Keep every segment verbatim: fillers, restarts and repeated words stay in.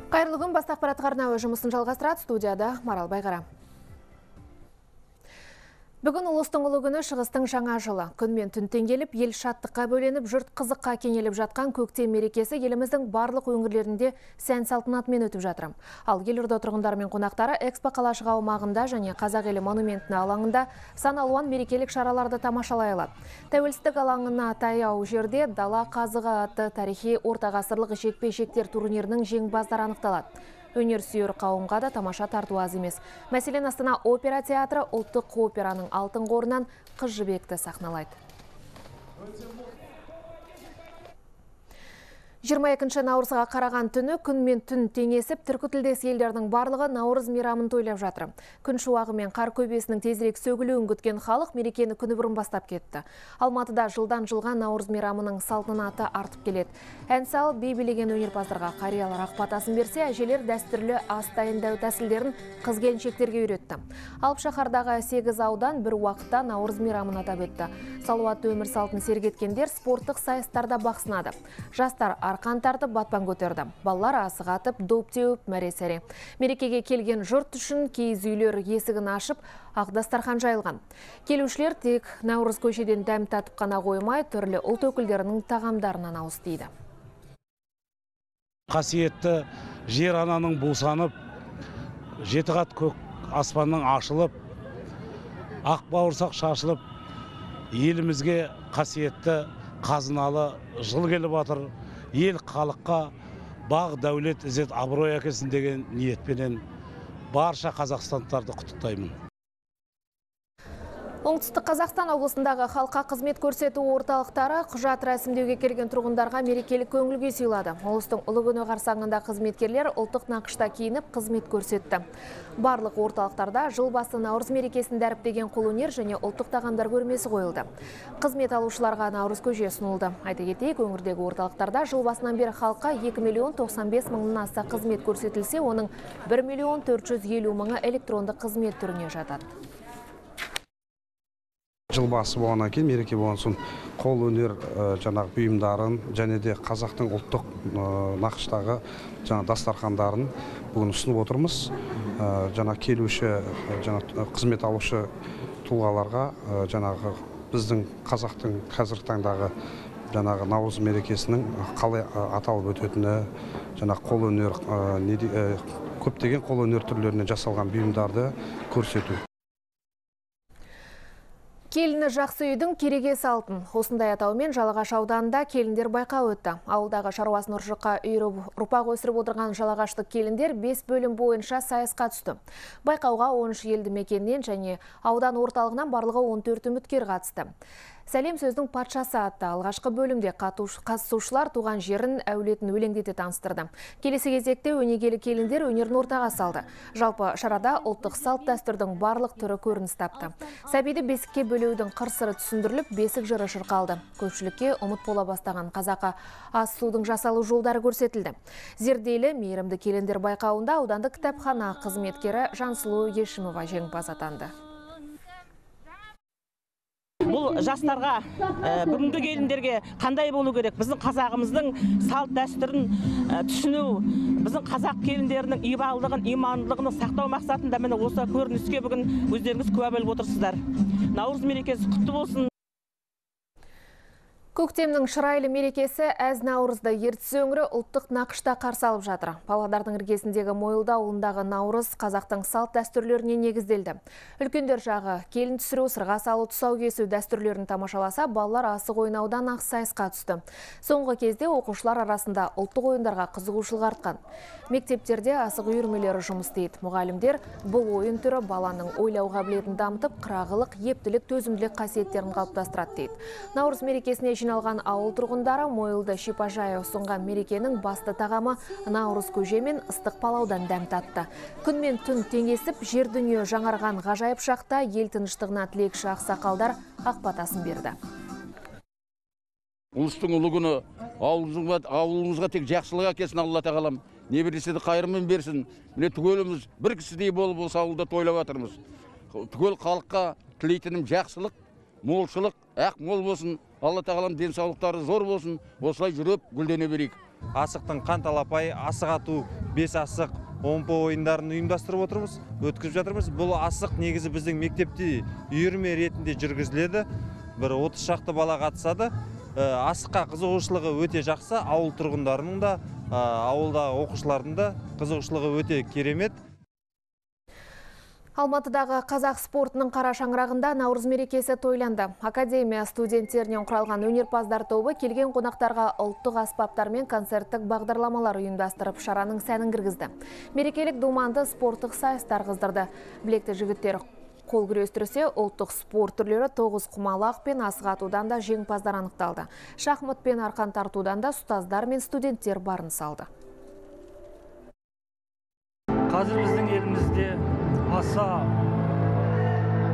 Қайырлы күн, Бас ақпарат арнауы жұмысын жалғастырады, студияда Марал Байғара. Бүгін ұлыстың ұлы күні, шығыстың жаңа жылы. Күн мен түн теңгеліп, ел шаттыққа бөленіп, жұрт қызыққа кенеліп жатқан көктем мерекесі еліміздің барлық өңірлерінде сән салтанатымен өтіп жатыр. Ал елорда тұрғындары мен қонақтары Экспо қалашығы аумағында және Қазақ елі монументінің алаңында сан алуан мерекелік шараларды тамашалай алады. Тәуелсіздік алаңына таяу жерде дала қазығы атты тарихи ортағасырлық жекпе-жектер турнирінің жеңімпаздары анықталады. Өнер сүйер қауымға да тамаша тарту аз емес. Мәселен, Астана опера театры ұлттық операның алтын қорынан Қыз жібекті сахналайды. жиырма екінші наурызға қараған түні күн мен түн теңесіп, түркітілдес елдердің барлығы наурыз мейрамын тойлап жатыр. Күн шуағы мен қар көбесінің тезірек сөгілуін күткен халық мерекені күні бұрын бастап кетті. Алматыда жылдан жылға наурыз мейрамының салтанаты артып келеді. Ән салып, би билеген өнерпаздарға қариялар ақбатасын берсе, әжелер дәстүрлі ас дайындау тәсілдерін қыз-келіншектерге үйретті. Алып шаһардағы сегіз аудан бір уақытта наурыз мейрамын атап өтті. Салауатты өмір салтын сергеткендер спорттық сайыстарда бақ сынады. Жастар арқан тартып, батпан көтерді. Балалар асық атып, доп теуіп, мәре-сәре. Мерекеге келген жұрт үшін киіз үйлер есігін ашып, ақ дастархан жайылған. Келушілер тек наурыз көшеден дәм татып қана қоймай, түрлі ұлт өкілдерінің тағамдарынан ауыз тиді. Қасиетті жер ананың бусанып, жеті қат көк аспанның ашылып, ақ бауырсақ шашылып, елімізге қасиетті қазыналы жыл келіп жатыр. Ел халыққа бақ дәулет ізет абырой әкелсін деген ниетпенен барша қазақстандықтарды құттықтаймын. Оңтүстік Қазақстан облысындағы халыққа қызмет көрсету орталықтары құжат рәсімдеуге келген тұрғындарға мерекелік көңіл-күй сыйлады. Ұлыстың ұлы күні қарсаңында қызметкерлер ұлттық нақышта киініп қызмет көрсетті. Барлық орталықтарда жыл басы наурыз мерекесін дәріптеген қолөнер және ұлттық тағамдар көрмесі қойылды. Қызмет алушыларға наурыз көже ұсынылды. Айта кетейік, өңірдегі орталықтарда жыл басынан бері халыққа екі миллион тоқсан бес мыңнан аса қызмет көрсетілсе, оның бір миллион төрт жүз елу мыңы электронды қызмет түріне жатады. Жыл басы болғаннан кейін, мереке болған соң қол өнер жаңағы бұйымдарын және де қазақтың ұлттық нақыштағы жаңа дастархандарын бүгін ұсынып отырмыз. Жаңа келуші, жаңа қызмет алушы тұлғаларға жаңағы біздің қазақтың қазіргі таңдағы жаңағы наурыз мерекесінің қалай аталып өтетіні, жаңа қол өнер, көптеген қол өнер түрлеріне жасалған бұйымдарды көрсету. Келіні жақсы үйдің керегесі алтын. Осындай атаумен Жалағаш ауданында келіндер байқауы өтті. Ауылдағы шаруасын ұршыққа үйіріп, ұрпақ өсіріп отырған жалағаштық келіндер бес бөлім бойынша сайысқа түсті. Байқауға он үш елді мекеннен және аудан орталығынан барлығы он төрт үміткер қатысты. Сәлем сөздің патшасы атты алғашқы бөлімде қатысушылар туған жерін, әулетін өлеңдете таныстырды. Келесі кезекте өнегелі келіндер өнерін ортаға салды. Жалпы шарада ұлттық салт дәстүрдің барлық түрі көрініс тапты. Сәбиді бесікке бөлеудің қыр-сыры түсіндіріліп, бесік жыры шырқалды. Көпшілікке ұмыт бола бастаған қазақы ас судың жасалу жолдары көрсетілді. Зерделі мейірімді келіндер байқауында аудандық кітапхана қызметкері Жансұлу Ешімова жеңімпаз атанды. Бұл жастарға, бүгінгі келіндерге қандай болу керек? Біздің қазағымыздың салт дәстүрін түсіну, біздің қазақ келіндерінің ибалдығын, имандылығын сақтау мақсатында міне осы көрініске бүгін өздеріңіз куә болып отырсыздар. Наурыз мерекесі құтты болсын. Көктемнің шырайлы мерекесі әз наурызды Ертіс өңірі ұлттық нақышта қарсы алып жатыр. Павлодардың іргесіндегі Мойылда ауылындағы наурыз қазақтың салт дәстүрлеріне негізделді. Үлкендер жағы келін түсіру, сырға салу, тұсау кесу дәстүрлерін тамашаласа, балалар асық ойнаудан ақ сайысқа түсті. Соңғы кезде оқушылар арасында ұлттық ойындарға қызығушылық артқан. Мектептерде асық үйірмелері жұмыс істейді. Мұғалімдер бұл ойын түрі баланың ойлау қабілетін дамытып, қырағылық, ептілік, төзімділік қасиеттерін қалыптастырады дейді. Наурыз мерекесіне жиналған ауыл тұрғындары Мойылды шипажайы ұсынған мерекенің басты тағамы наурыз көже мен ыстық палаудан дәм татты. Күн мен түн теңесіп, жер дүние жаңарған ғажайып шақта ел тыныштығына тілекші ақсақалдар ақбатасын берді. Ұлыстың ұлы күні ауылымызға тек жақсылық әкелсін Алла тағалам. Не берсе де қайырымен берсін. Міне түгеліміз бір кісідей болып осы ауылда тойлап жатырмыз. Түгел халыққа тілейтінім жақсылық, молшылық, ақ мол болсын. Алла тағалам денсаулықтары зор болсын. Осылай жүріп гүлдене берейік. Асықтың қан талапай, асық ату бес асық, омпы ойындарын ұйымдастырып отырмыз, өткізіп жатырмыз. Бұл асық негізі біздің мектепте үйірме ретінде жүргізіледі. Бір отыз шақты бала қатысады. Асыққа қызығушылығы өте жақсы, ауыл тұрғындарының да, ауылдағы оқушылардың да қызығушылығы өте керемет. Алматыдағы қазақ спортының қара шаңырағында Наурыз мерекесі тойланды. Академия студенттерінен құралған өнерпаздар тобы келген қонақтарға ұлттық аспаптар мен концерттік бағдарламалар ұйымдастырып, шараның сәнін кіргізді. Мерекелік думанды спорттық сайыстар қыздырды. Білекті жігіттер қол күрестірсе, ұлттық спорт түрлері тоғыз құмалақ пен асық атудан да жеңімпаздар анықталды. Шахмат пен арқан тартудан да ұстаздар мен студенттер барын салды. Қазір біздің елімізде аса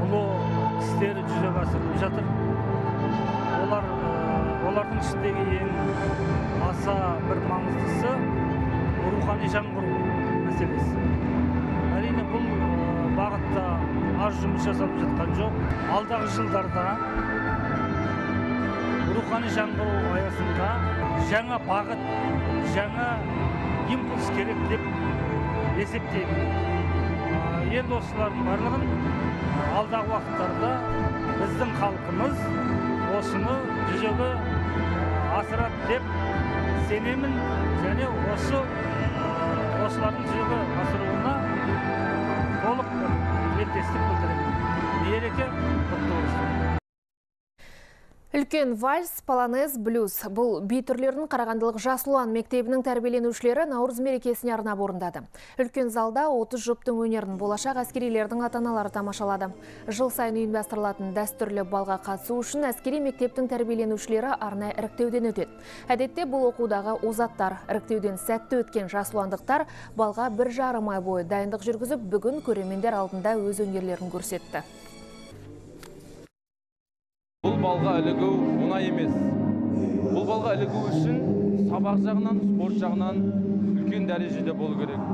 ұлы істері жүзеге асырылып жатыр. Олар олардың ішіндегі ең аса бір маңыздысы рухани жаңғыру мәселесі. Әрине бұл бағытта аз жұмыс жасалып жатқан жоқ. Алдағы жылдарда рухани жаңғыру аясында жаңа бағыт, жаңа импульс керек деп есептеймін. Енді осылардың барлығын алдағы уақыттарда біздің халқымыз осыны жүзеге асырады деп сенемін, және осы осылардың жүзеге асыруына толық тілектестік білдіремін. Мереке құтты болсын. Үлкен вальс, полонез, блюз. Бұл би түрлерінің Қарағандылық Жасұлан мектебінің тәрбиеленушілері Наурыз мерекесіне арнап орындады. Үлкен залда отыз жұптың өнерін болашақ әскерилердің ата-аналары тамашалады. Жыл сайын ұйымдастырылатын дәстүрлі балға қатысу үшін әскери мектептің тәрбиеленушілері арнайы іріктеуден өтеді. Әдетте бұл оқудағы озаттар. Іріктеуден сәтті өткен жасұландықтар балға бір жарым ай бойы дайындық жүргізіп, бүгін көрермендер алдында өз өнерлерін көрсетті. Бұл балға ілігу оңай емес. Бұл балға ілігу үшін сабақ жағынан, спорт жағынан үлкен дәрежеде болу керек.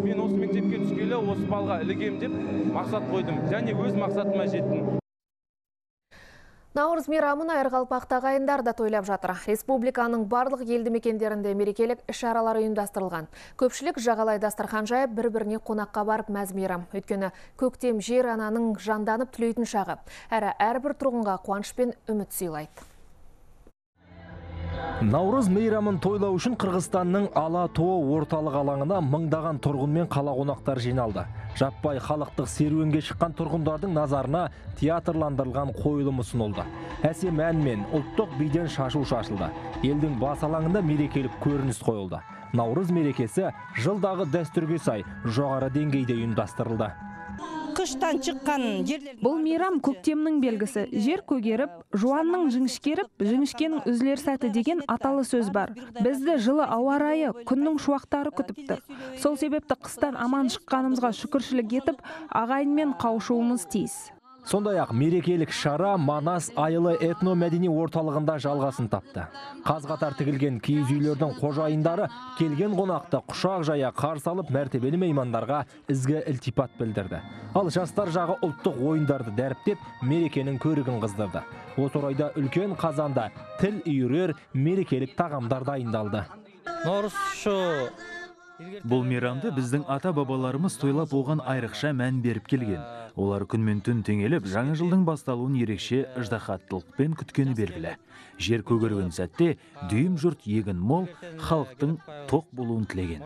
Мен осы мектепке түскелі осы балға ілігем деп мақсат қойдым, және өз мақсатыма жеттім. Наурыз мейрамын Айырғалпақта ағайындар да тойлап жатыр. Республиканың барлық елді мекендерінде мерекелік іс-шаралар ұйымдастырылған. Көпшілік жағалай дастархан жайып, бір-біріне қонаққа барып мәз мейрам. Өйткені көктем жер ананың жанданып түлейтін шағы. Әрі әрбір тұрғынға қуаныш пен үміт сыйлайды. Наурыз мейрамын тойлау үшін Қырғызстанның Ала-Тоо орталық алаңына мыңдаған тұрғын мен қала қонақтар жиналды. Жаппай халықтық серуенге шыққан тұрғындардың назарына театрландырылған қойылым ұсынылды. Әсем ән мен ұлттық биден шашу шашылды. Елдің бас алаңында мерекелік көрініс қойылды. Наурыз мерекесі жылдағы дәстүрге сай жоғары деңгейде ұйымдастырылды. Қыштан шыққан жерлер. Бұл мейрам көктемнің белгісі. Жер көгеріп, жуанның жіңішкеріп, жіңішкенің үзілер сәті деген аталы сөз бар. Бізді жылы ауа райы, күннің шуақтары күтіп тұр. Сол себепті қыстан аман шыққанымызға шүкіршілік етіп, ағайынмен қауышуымыз тиіс. Сондай-ақ мерекелік шара Манас Айылы этно-мәдени орталығында жалғасын тапты. Қаз-қатар тігілген киіз үйлердің қожайындары келген қонақты құшақ жая қарсы алып, мәртебелі меймандарға ізгі ілтипат білдірді. Ал жастар жағы ұлттық ойындарды дәріптеп, мерекенің көрігін қыздырды. Осы орайда үлкен қазанда тіл үйірер мерекелік тағамдар дайындалды. Бұл мейрамды біздің ата-бабаларымыз тойлап оған айрықша мән беріп келген. Олар күн мен түн теңеліп, жаңа жылдың басталуын ерекше ыждахаттылықпен күткені белгілі. Жер көгерген сәтте дүйім жұрт егін мол, халықтың тоқ болуын тілеген.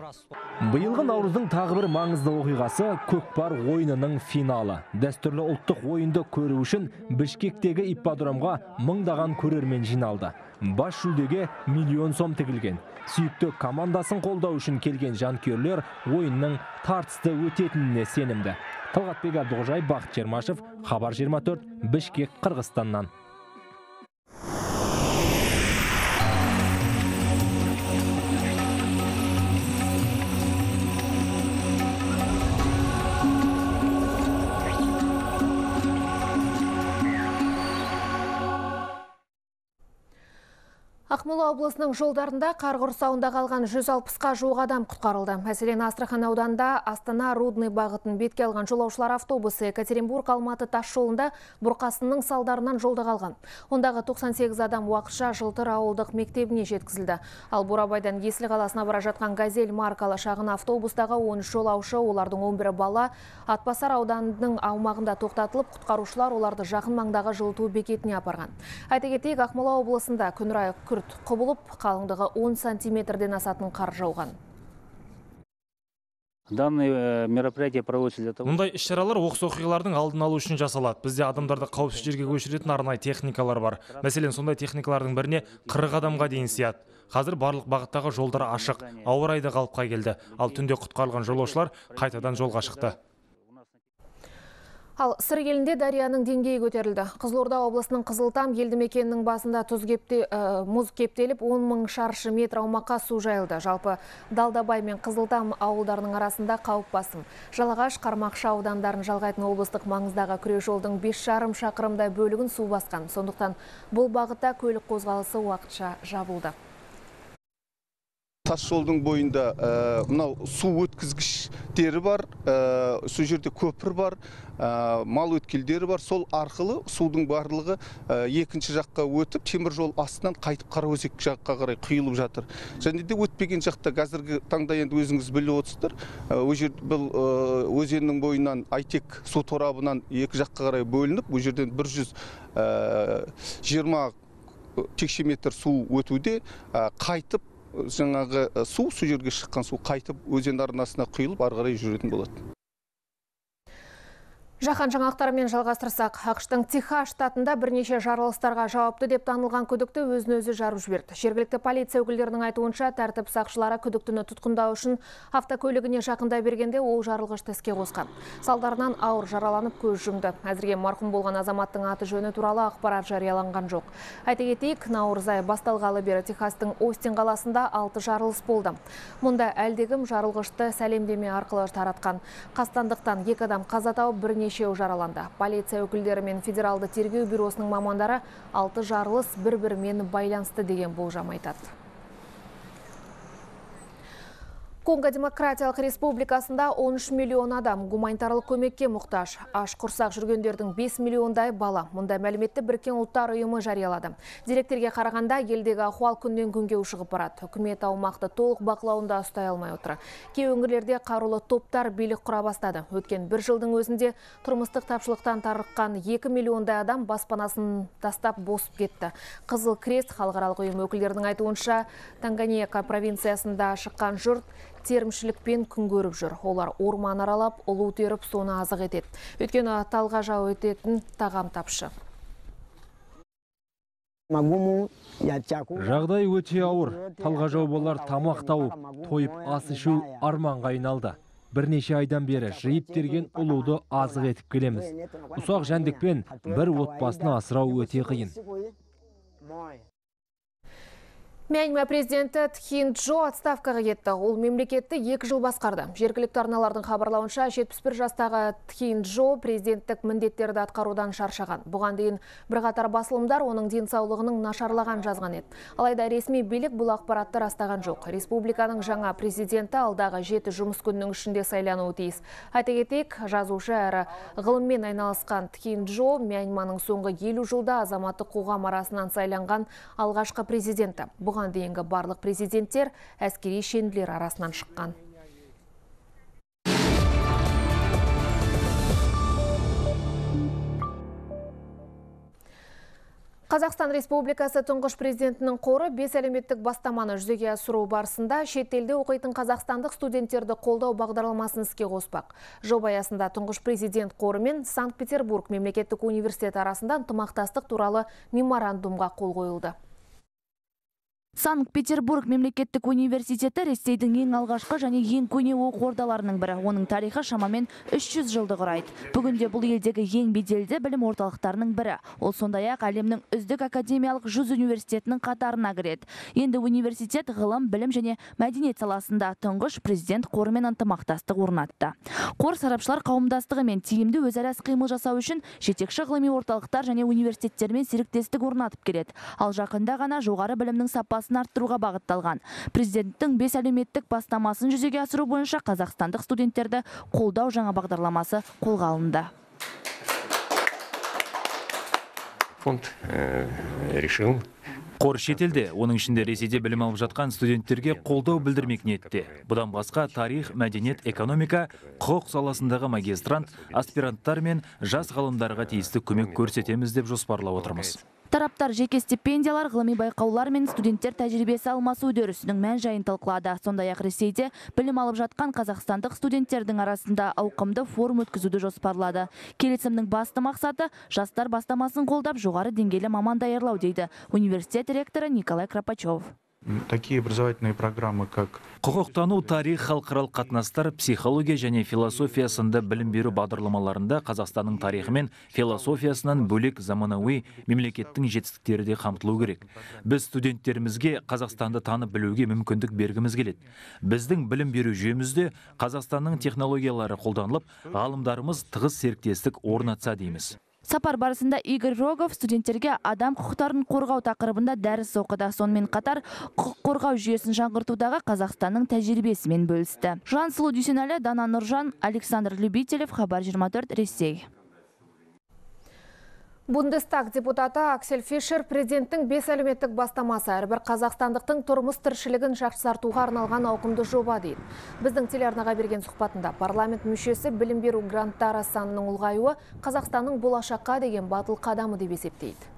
Биылғы Наурыздың тағы бір маңызды оқиғасы көкпар ойынының финалы. Дәстүрлі ұлттық ойынды көру үшін Бішкектегі ипподромға мыңдаған көрермен жиналды. Бас жүлдеге миллион сом тігілген. Сүйікті командасын қолдау үшін келген жанкүйерлер ойынның тартысты өтетініне сенімді. Талғатбек Абдуғажай, Бақыт Жермашев, Хабар жиырма төрт, Бішкек, Қырғызстаннан. Ақмола облысының жолдарында қар құрсауында қалған жүз алпысқа жуық адам құтқарылды. Мәселен, Астрахан ауданында Астана Рудный бағытын бетке алған жолаушылар автобусы Екатеринбург Алматы тас жолында бұрқасынның салдарынан жолда қалған. Ондағы тоқсан сегіз адам уақытша Жылтыр ауылдық мектебіне жеткізілді. Ал Бурабайдан Есіл қаласына бара жатқан Газель маркалы шағын автобустағы он үш жолаушы, олардың он бірі бала, Атбасар ауданының аумағында тоқтатылып, құтқарушылар оларды жақын маңдағы жылыту бекетіне апарған. Айта кетейік, Ақмола облысында күн райы күрт құбылып, қалыңдығы он сантиметрден асатын қар жауған. Данное мероприятие проводится для того. Мұндай іс-шаралар оқыс оқиғалардың алдын алу үшін жасалады. Бізде адамдарды қауіпсіз жерге көшіретін арнайы техникалар бар. Мәселен, сондай техникалардың біріне қырық адамға дейін сыяды. Қазір барлық бағыттағы жолдар ашық, ауа райы да қалыпқа келді. Ал түнде құтқарылған жолаушылар қайтадан жолға шықты. Ал Сыр елінде Дарияның деңгейі көтерілді. Қызылорда облысының Қызылтам елді мекенінің басында тұз кепте, ә, мұз кептеліп, он мың шаршы метр аумаққа су жайылды. Жалпы Далдабай мен Қызылтам ауылдарының арасында қауіп басым. Жалағаш, Қармақшы аудандарын жалғайтын облыстық маңыздағы күре жолдың бес жарым шақырымдай бөлігін су басқан. Сондықтан бұл бағытта көлік қозғалысы уақытша жабылды. Тас жолдың бойында мынау су өткізгіштері бар, сол жерде көпір бар, мал өткелдері бар. Сол арқылы судың барлығы екінші жаққа өтіп, темір жол астынан қайтып Қараөзек жаққа қарай құйылып жатыр. Және де өтпеген жақта қазіргі таңда енді өзіңіз біліп отырсыздар. Бұл өзеннің бойынан Айтек су торабынан екі жаққа қарай бөлініп, бұл жерден бір жүз жиырма текше метр су өтуде, қайтып жаңағы су, су жерге шыққан су қайтып өзен арнасына құйылып ары қарай жүретін болады. Жаһан жаңалықтарымен жалғастырсақ, ақш-тың Техас штатында бірнеше жарылыстарға жауапты деп танылған күдікті өзін өзі жарып жіберді. Жергілікті полиция өкілдерінің айтуынша, тәртіп сақшылары күдіктіні тұтқындау үшін автокөлігіне жақындай бергенде ол жарылғышты іске қосқан. Салдарынан ауыр жараланып көз жұмды. Әзірге марқұм болған азаматтың аты жөні туралы ақпарат жарияланған жоқ. Айта кетейік, наурыз айы басталғалы бері Техастың Остин қаласында алты жарылыс болды. Мұнда әлдегім жарылғышты сәлемдеме арқылы таратқан. Қастандықтан екі адам қаза тауып, бірнеше жараланды. Полиция өкілдері мен Федералды тергеу бюросының мамандары алты жарылыс бір-бірімен байланысты деген болжам айтады. Конго Демократиялық Республикасында он үш миллион адам гуманитарлық көмекке мұқтаж. Аш құрсақ жүргендердің бес миллиондай бала. Мұнда мәліметті Біріккен ұлттар ұйымы жариялады. Деректерге қарағанда елдегі ахуал күннен күнге ушығып барады. Үкімет аумақты толық бақылауында ұстай алмай отыр. Кей өңірлерде қарулы топтар билік құра бастады. Өткен бір жылдың өзінде тұрмыстық тапшылықтан тарыққан екі миллиондай адам баспанасын тастап босып кетті. Қызыл Крест халықаралық ұйым өкілдерінің айтуынша, Танганьика провинциясында шыққан жұрт терімшілікпен күн көріп жүр. Олар орман аралап, ұлу теріп, соны азық етеді. Өйткені талға жау ететін тағам тапшы. Жағдай өте ауыр. Талға жау болар тамақ тауып, тойып ас ішу арманға айналды. Бірнеше айдан бері жиып терген ұлуды азық етіп келеміз. Ұсақ жәндікпен бір отбасыны асырау өте қиын. Мьянма президенті Тхин Джо отставкаға кетті. Ол мемлекетті екі жыл басқарды. Жергілікті арналардың хабарлауынша жетпіс бір жастағы Тхин Джо президенттік міндеттерді атқарудан шаршаған. Бұған дейін бірқатар басылымдар оның денсаулығының нашарлаған жазған еді. Алайда ресми билік бұл ақпаратты растаған жоқ. Республиканың жаңа президенті алдағы жеті жұмыс күнінің ішінде сайлануы тиіс. Айта кетейік, жазушы әрі ғылыммен айналысқан Тхин Джо Мьянманың соңғы елу жылда азаматтық қоғам арасынан сайланған алғашқы президенті. Бұған дейінгі барлық президенттер әскери шенділер арасынан шыққан. Қазақстан Республикасы тұңғыш президентінің қоры бес әлеуметтік бастаманы жүзеге асыру барысында шет елде оқитын қазақстандық студенттерді қолдау бағдарламасын іске қоспақ. Жоба аясында тұңғыш президент қоры мен Санкт-Петербург мемлекеттік университеті арасында ынтымақтастық туралы меморандумға қол қойылды. Санкт-Петербург мемлекеттік университеті Ресейдің ең алғашқы және ең көне оқу ордаларының бірі. Оның тарихы шамамен үш жүз жылды құрайды. Бүгінде бұл елдегі ең беделді білім орталықтарының бірі. Ол сондай-ақ әлемнің үздік академиялық жүз университетінің қатарына кіреді. Енді университет ғылым, білім және мәдениет саласында тұңғыш президент қорымен ынтымақтастық орнатты. Қор сарапшылар қауымдастығы мен тиімді өзара іс-қимыл жасау үшін жетекші ғылыми орталықтар және университеттермен серіктестік орнатып келеді. Ал жақында ғана жоғары білімнің сапасын арттыруға бағытталған. Президенттің бес әлеуметтік бастамасын жүзеге асыру бойынша қазақстандық студенттерді қолдау жаңа бағдарламасы қолға алынды. Фонд решил Қор шетелде, оның ішінде Ресейде білім алып жатқан студенттерге қолдау білдірмек ниетте. Бұдан басқа тарих, мәдениет, экономика, құқық саласындағы магистрант, аспиранттар мен жас ғалымдарға тиісті көмек көрсетеміз деп жоспарлап отырмыз. Тараптар жеке стипендиялар, ғылыми байқаулар мен студенттер тәжірибесі алмасу үдерісінің мән жайын талқылады. Сондай-ақ Ресейде білім алып жатқан қазақстандық студенттердің арасында ауқымды форум өткізуді жоспарлады. Келісімнің басты мақсаты жастар бастамасын қолдап жоғары деңгейлі маман даярлау дейді университет ректоры Николай Кропачев. Такие образовательные программы, как Құқықтану, тарих, халықаралық қатынастар, психология және философия сынды білім беру бағдарламаларында Қазақстанның тарихы мен философиясынан бөлек заманауи мемлекеттің жетістіктері де қамтылу керек. Біз студенттерімізге Қазақстанды танып білуге мүмкіндік бергіміз келеді. Біздің білім беру жүйемізде Қазақстанның технологиялары қолданылып, ғалымдарымыз тығыз серіктестік орнатса дейміз. Сапар барысында Игорь Рогов студенттерге адам құқықтарын қорғау тақырыбында дәріс оқыды. Сонымен қатар құқық қорғау жүйесін жаңғыртудағы Қазақстанның тәжірибесімен бөлісті. Жансұлу Дүйсенәлі, Дана Нұржан, Александр Любителев, Хабар жиырма төрт, Ресей. Бундестаг депутаты Аксель Фишер президенттің бес әлеуметтік бастамасы әрбір қазақстандықтың тұрмыс тіршілігін жақсартуға арналған ауқымды жоба дейді. Біздің телеарнаға берген сұхбатында парламент мүшесі білім беру гранттары санының ұлғаюы Қазақстанның болашаққа деген батыл қадамы деп есептейді.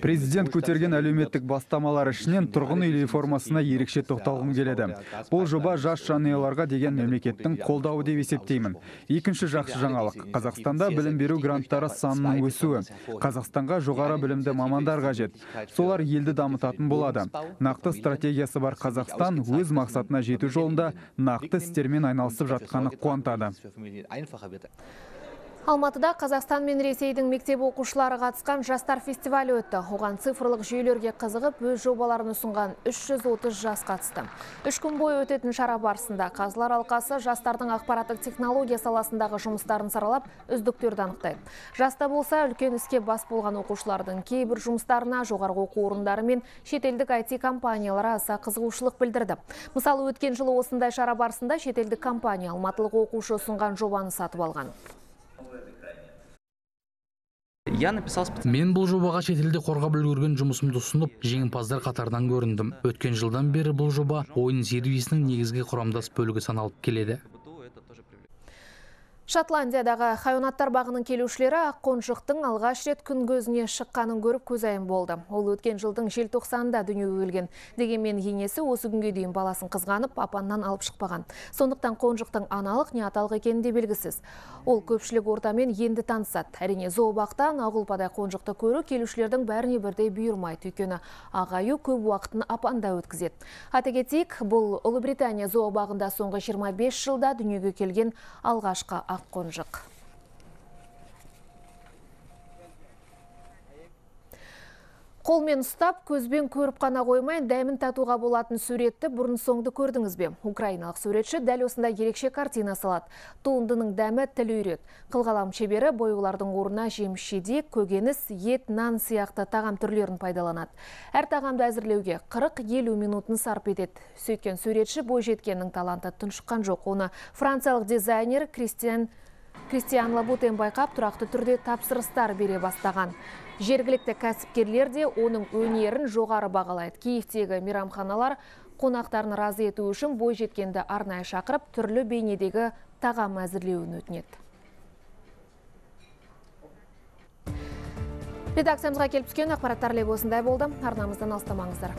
Президент көтерген әлеуметтік бастамалар ішінен тұрғын үй реформасына ерекше тоқталғым келеді. Бұл жоба жас жанұяларға деген мемлекеттің қолдауы деп есептеймін. Екінші жақсы жаңалық. Қазақстанда білім беру гранттары санының өсуі. Қазақстанға жоғары білімді мамандар қажет. Солар елді дамытатын болады. Нақты стратегиясы бар Қазақстан өз мақсатына жету жолында нақты істермен айналысып жатқаны қуантады. Алматыда Қазақстан мен Ресейдің мектеп оқушылары қатысқан жастар фестивалі өтті. Оған цифрлық жүйелерге қызығып, өз жобаларын ұсынған үш жүз отыз жас қатысты. Үш күн бойы өтетін шара барысында Қазылар алқасы жастардың ақпараттық технология саласындағы жұмыстарын саралап, үздіктерді анықтайды. Жаста болса, үлкен іске бас болған оқушылардың кейбір жұмыстарына жоғарғы оқу орындары мен шетелдік ай ти компаниялары аса қызығушылық білдірді. Мысалы, өткен жылы осындай шара барысында шетелдік компания алматылық оқушы ұсынған жобаны сатып алған. Мен бұл жобаға шетелде қорғап үлгерген жұмысымды ұсынып, жеңімпаздар қатарынан көріндім. Өткен жылдан бері бұл жоба ойын сервисінің негізгі құрамдас бөлігі саналып келеді. Шотландиядағы хайуанаттар бағының келушілері аққонжықтың алғаш рет күн көзіне шыққанын көріп көзайым болды. Ол өткен жылдың желтоқсанында дүниеге келген. Дегенмен енесі осы күнге дейін баласын қызғанып, апаннан алып шықпаған. Сондықтан қонжықтың аналық не аталық екені де белгісіз. Ол көпшілік ортамен енді танысады. Әрине зообақтан ағылпадай қонжықты көру келушілердің бәріне бірдей бұйырмайды. Өйткені ағаю көп уақытын апанда өткізеді. Айта кетейік, бұл Ұлыбритания зообағында соңғы жиырма бес жылда дүниеге келген алғашқы аққонжық. Қолмен ұстап, көзбен көріп қана қоймай, дәмін татуға болатын суретті бұрын соңды көрдіңіз бе? Украиналық суретші дәл осындай ерекше картина салады. Туындының дәмі тіл үйрет. Қылғалам шебері бояулардың орнына жеміс-жидек, көкөніс, ет, нан сияқты тағам түрлерін пайдаланады. Әр тағамды әзірлеуге қырық-елу минутын сарп етеді. Сөйткен суретші бойжеткеннің таланты тұншыққан жоқ. Оны франциялық дизайнер Кристиан Кристиан Лабутен байқап, тұрақты түрде тапсырыстар бере бастаған. Жергілікті кәсіпкерлер де оның өнерін жоғары бағалайды. Киевтегі мейрамханалар қонақтарын разы ету үшін бойжеткенді арнайы шақырып, түрлі бейнедегі тағам әзірлеуін өтінеді. Редакциямызға келіп түскен ақпараттар легі осындай болды. Арнамыздан алыстамаңыздар.